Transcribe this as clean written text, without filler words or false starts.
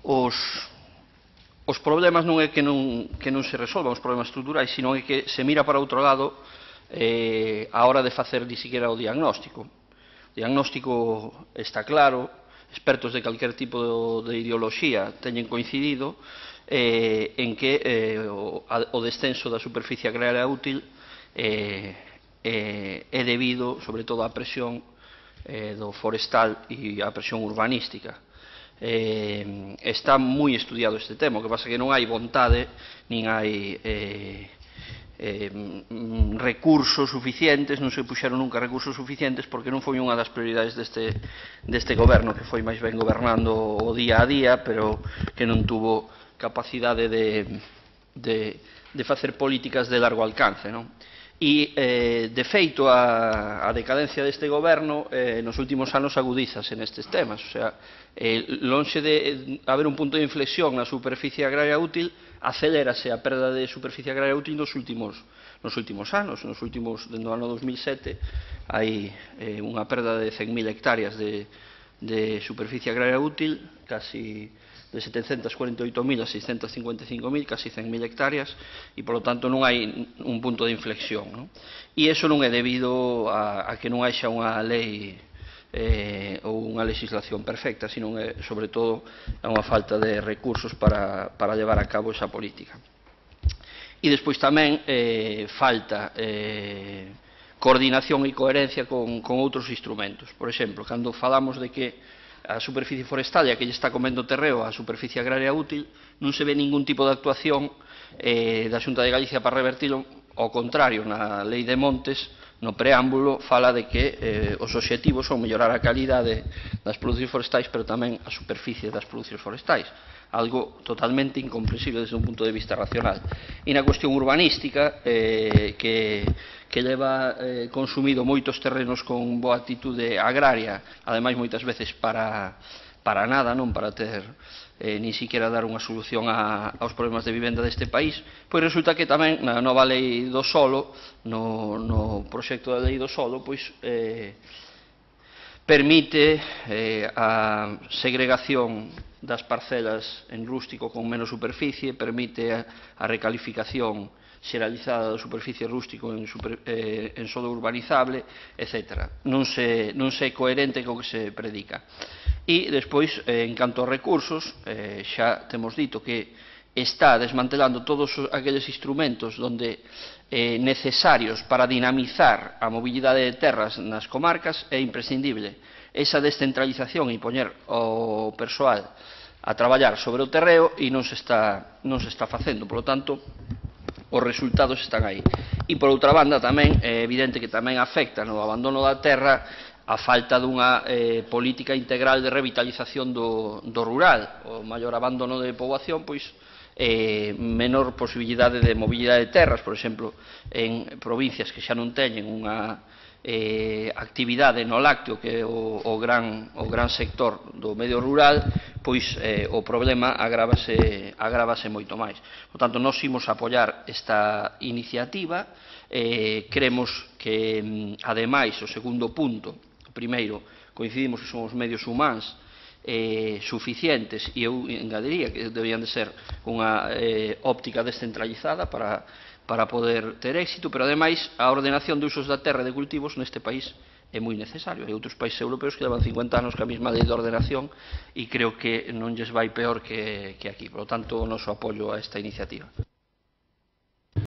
os problemas non é que non se resolvan os problemas estruturais, sino é que se mira para outro lado a hora de facer ni siquiera o diagnóstico. O diagnóstico está claro, expertos de calquer tipo de ideoloxía teñen coincidido en que o descenso da superficie agraria útil é debido, sobre todo, á presión do forestal e á presión urbanística. Está moi estudiado este tema, o que pasa é que non hai vontade, nin hai recursos suficientes, non se puxeron nunca recursos suficientes porque non foi unha das prioridades deste goberno, que foi máis ben gobernando o día a día, pero que non tuvo capacidade de facer políticas de largo alcance, non? E, de feito, a decadencia deste goberno nos últimos anos agudízase nestes temas. O sea, lonxe de haber un punto de inflexión na superficie agraria útil, acelérase a perda de superficie agraria útil nos últimos anos. Dende o ano 2007 hai unha perda de 100.000 hectáreas de superficie agraria útil, casi de 748.000 a 655.000, casi 100.000 hectáreas, e, polo tanto, non hai un punto de inflexión, non? E iso non é debido a que non haxa unha lei ou unha legislación perfecta, sino é, sobre todo, a unha falta de recursos para levar a cabo esa política. E despois tamén falta coordinación e coherencia con outros instrumentos. Por exemplo, cando falamos de que a superficie forestal e a que lle está comendo terreo a superficie agraria útil, non se ve ningún tipo de actuación da Xunta de Galicia para revertilo. Ao contrario, na Lei de Montes, no preámbulo, fala de que os obxectivos son mellorar a calidade das producións forestais, pero tamén a superficie das producións forestais, algo totalmente incomprensible desde un punto de vista racional. E na cuestión urbanística, que leva consumido moitos terrenos con boa actitude agraria, ademais moitas veces para nada, non para ter nin siquiera dar unha solución aos problemas de vivenda deste país, pois resulta que tamén na nova lei do solo, no proxecto da lei do solo, pois permite a segregación das parcelas en rústico con menos superficie, permite a recalificación xeralizada da superficie rústico en solo urbanizable, etc. Non se é coherente co que se predica. E despois, en canto aos recursos, xa temos dito que está desmantelando todos aqueles instrumentos necesarios para dinamizar a mobilidade de terras nas comarcas. É imprescindible esa descentralización e poñer o persoal a traballar sobre o terreo, e non se está facendo. Por lo tanto, os resultados están aí. E, por outra banda, tamén é evidente que tamén afecta no abandono da terra a falta dunha política integral de revitalización do rural. O maior abandono de poboación, pois, menor posibilidade de mobilidade de terras. Por exemplo, en provincias que xa non teñen unha actividade no lácteo, que é o gran sector do medio rural, pois o problema agrávase moito máis. Por tanto, nós imos apoiar esta iniciativa. Cremos que, ademais, o segundo punto, primeiro, coincidimos que son os medios humanos suficientes, e eu engadiría que deberían de ser unha óptica descentralizada para poder ter éxito, pero, ademais, a ordenación de usos da terra e de cultivos neste país é moi necesario. Hai outros países europeos que levan 50 anos ca mesma lei de ordenación e creo que non lles vai peor que aquí. Por lo tanto, o noso apoio a esta iniciativa.